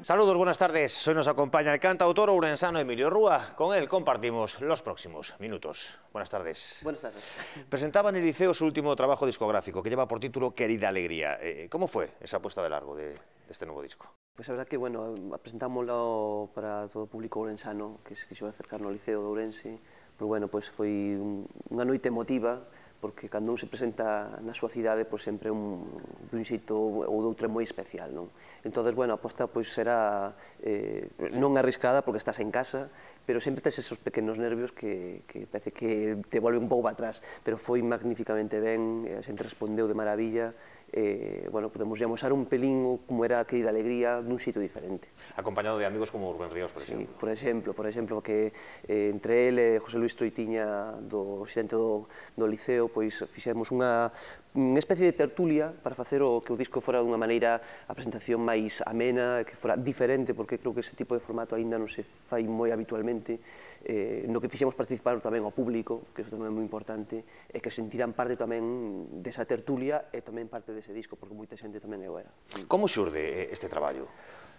Saludos, buenas tardes. Hoy nos acompaña el cantautor ourensano Emilio Rúa. Con él compartimos los próximos minutos. Buenas tardes. Buenas tardes. Presentaba en el Liceo su último trabajo discográfico, que lleva por título Querida Alegría. ¿Cómo fue esa puesta de largo de este nuevo disco? Pues a verdad que, bueno, presentámoslo para todo o público ourensano que se quixo acercar no Liceo de Ourense. Pois, bueno, pois foi unha noite emotiva, porque cando un se presenta na súa cidade, pois sempre dun xeito ou doutro moi especial, non? Entón, bueno, a aposta pois será non arriscada porque estás en casa, pero sempre tes esos pequenos nervios que parece que te volven un pouco para atrás, pero foi magníficamente ben, a xente respondeu de maravilla, bueno, podemos amosar un pelín como era a Querida Alegría dun xeito diferente. Acompañado de amigos como Rubén Ríos, por exemplo. Sí, por exemplo, que entre ele e José Luis Troitiña, do xerente do Liceo, pois fixemos unha especie de tertulia para facer que o disco fora dunha maneira a presentación máis amena, que fora diferente, porque creo que ese tipo de formato aínda non se fai moi habitualmente, no que fixemos participar tamén ao público, que iso tamén é moi importante, e que sentiran parte tamén desa tertulia e tamén parte dese disco, porque moita xente tamén o era. Como xurde este traballo?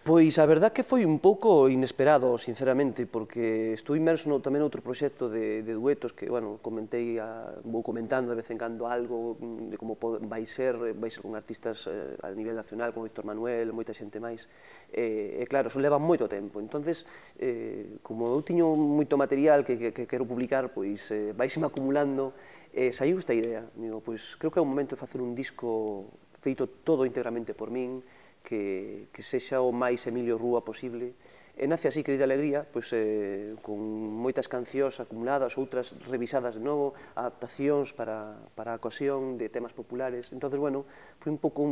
Pois a verdad que foi un pouco inesperado, sinceramente, porque estou inmerso tamén noutro proxecto de duetos que, bueno, vou comentando de vez en cando algo de como vai ser con artistas a nivel nacional, como Víctor Manuel, moita xente máis, e claro, eso leva moito tempo, entonces, como eu tiño moito material que quero publicar, pois vaiseme acumulando, saiu esta idea, digo, pois creo que é o momento de facer un disco feito todo íntegramente por min, que sexa o máis Emilio Rúa posible, e nace así Querida Alegría, pois con moitas cancións acumuladas, outras revisadas de novo, adaptacións para a ocasión de temas populares, entón, bueno, foi un pouco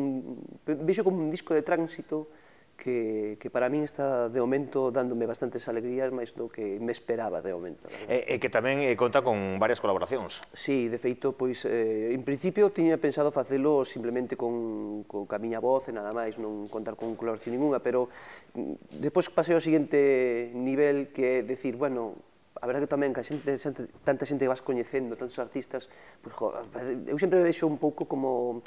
vexo como un disco de tránsito que para min está de momento dándome bastantes alegrías máis do que me esperaba de momento. E que tamén conta con varias colaboracións. Sí, de feito, pois, en principio tiña pensado facelo simplemente con a miña voz e nada máis, non contar con colaboración ninguna, pero depois pasei ao seguinte nivel que é decir, bueno, a verdade que tamén que tanta xente que vas coñecendo, tantos artistas, eu sempre me vexo un pouco como,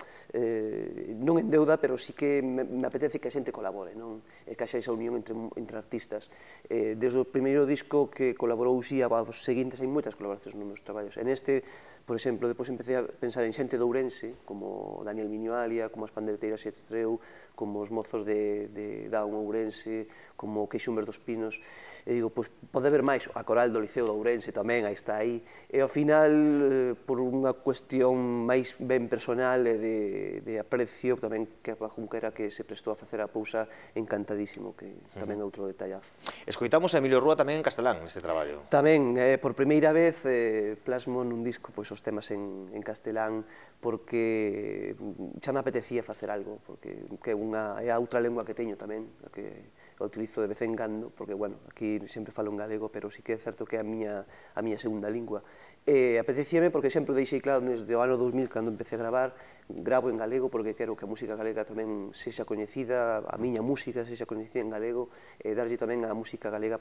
non en deuda, pero sí que me apetece que a xente colabore, que haxa esa unión entre artistas. Desde o primeiro disco que colaborou Uxía, aos seguintes hai moitas colaboracións nos meus traballos. En este, por exemplo, depois empecé a pensar en xente de Ourense, como Daniel Miñoalia, como as Pandereteiras e Estreu, como os mozos de Daun Ourense, como Queixumber dos Pinos, e digo, pois pode haber máis, a Coral do Liceo de Ourense tamén, aí está aí, e ao final, por unha cuestión máis ben personal e de aprecio, tamén que a Junquera que se prestou a facer a pousa encantadísimo, que tamén é outro detallazo. Escoitamos a Emilio Rúa tamén en castelán neste traballo. Tamén, por primeira vez, plasmo nun disco os temas en castelán, porque xa me apetecía facer algo, porque é a outra lengua que teño tamén, que a utilizo de vez en cando, porque, bueno, aquí sempre falo en galego, pero sí que é certo que é a miña segunda lingua. Apetecíame porque sempre deixei claro desde o ano 2000, cando empecé a gravar, gravo en galego porque quero que a música galega tamén sexa coñecida, a miña música sexa coñecida en galego, e darlle tamén á música galega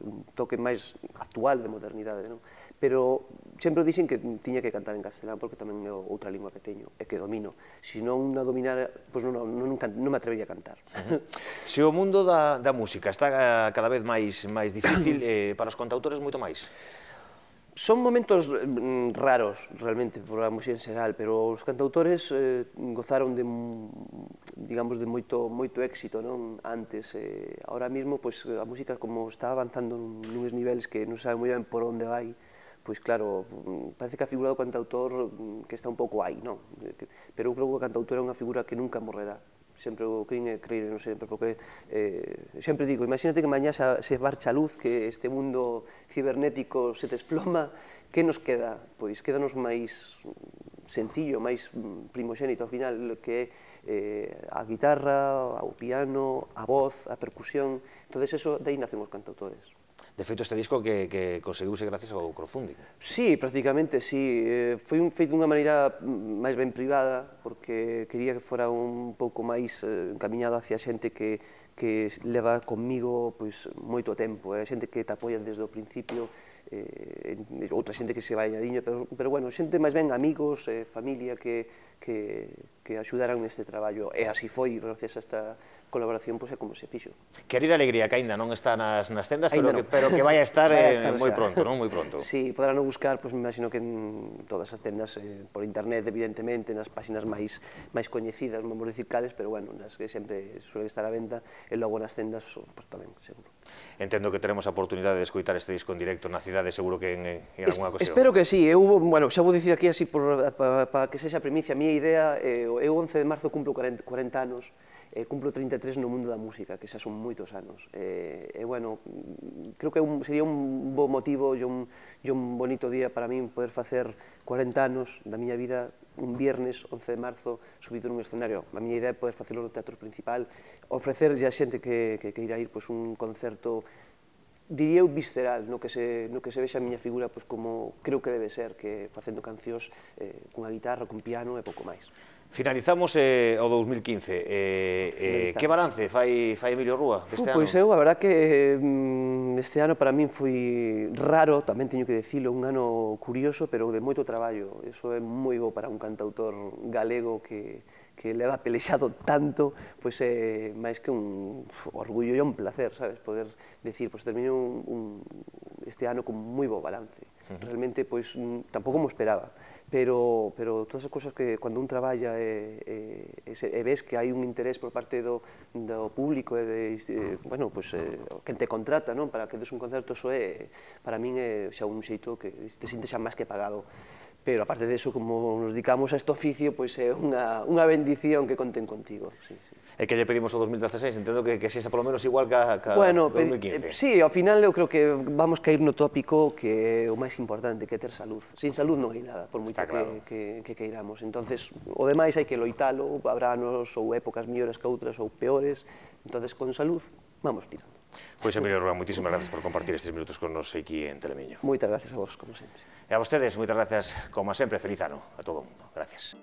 un toque máis actual de modernidade, non? Pero sempre dixen que tiña que cantar en castelán porque tamén é outra lingua que teño e que domino. Se non a dominara, pois non me atrevería a cantar. Se o mundo da música está cada vez máis difícil, para os cantautores moito máis. Son momentos raros, realmente, por a música en xeral, pero os cantautores gozaron de, digamos, de moito éxito, non? Antes, ahora mesmo, a música como está avanzando nuns niveles que non sabe moi ben por onde vai, pois claro, parece que a figura do cantautor que está un pouco aí, non? Pero eu creo que o cantautor é unha figura que nunca morrerá. Sempre o creio non sempre, porque sempre digo, imagínate que mañá se marcha a luz, que este mundo cibernético se desploma, que nos queda? Pois quédanos máis sencillo, máis primoxénito ao final, que é a guitarra, o piano, a voz, a percusión, entón eso, de aí nacen os cantautores. De feito, este disco que conseguiuse gracias ao crowdfunding. Sí, prácticamente, sí. Foi feito dunha maneira máis ben privada, porque quería que fora un pouco máis encamiñado hacia xente que leva conmigo moito tempo, xente que te apoia desde o principio, outra xente que se vai añadindo, pero bueno, xente máis ben amigos, familia, que axudaran neste traballo, e así foi, gracias a esta colaboración, pois é como se fixo. Querida Alegría, que aínda non está nas tendas, Aínda pero que vai a estar moi xa. pronto, non? Moi pronto. Sí, poderán buscar, pois me imagino que en todas as tendas, por internet, evidentemente, nas páxinas máis coñecidas, non vou dicir cales, pero bueno, nas que sempre suele estar a venta, e logo nas tendas, pois tamén, seguro. Entendo que teremos a oportunidade de escoitar este disco en directo na cidade, seguro que en alguna ocasión. Espero que sí, bueno, xa vou dicir aquí así para que sexa primicia, a miña idea, eu 11 de marzo cumplo 40 anos, cumplo 33 no mundo da música, que xa son moitos anos. Bueno, creo que sería un bo motivo e un bonito día para min poder facer 40 anos da miña vida un viernes 11 de marzo subido nun escenario. A miña idea é poder facelo no Teatro Principal, ofrecerlle a xente que queira ir un concerto, diría eu, visceral, no que se vexa a miña figura como creo que debe ser, que facendo cancións cunha guitarra, cun piano e pouco máis. Finalizamos o 2015. Que balance fai Emilio Rúa deste ano? Pois eu, a verdad que este ano para min foi raro, tamén teño que dicilo, un ano curioso, pero de moito traballo. Iso é moi bo para un cantautor galego que leva pelexado tanto, pois é máis que un orgullo e un placer, sabes, poder decir, pois termino este ano con moi bo balance. Realmente, pois, tampouco mo esperaba, pero todas as cousas que cando un traballa e ves que hai un interés por parte do público e bueno, pois, quen te contrata, non, para que des un concerto, iso é, para min é xa un xeito que te sintes xa máis que pagado. Pero, aparte de eso, como nos dedicamos a este oficio, pois é unha bendición que conten contigo. E que lle pedimos o 2016, entendo que sexa polo menos igual que 2015. Sí, ao final eu creo que vamos caer no tópico que é o máis importante, que é ter salud. Sin salud non hai nada, por moito que queiramos. Entonces, o demais hai que loitalo, habrá anos ou épocas mellores que outras ou peores, entonces con salud vamos tirando. Pois, Emilio Rúa, moitísimas gracias por compartir estes minutos con nos aquí en Telemiño. Moitas gracias a vos, como sempre. E a vostedes, moitas gracias, como sempre, feliz ano a todo o mundo. Gracias.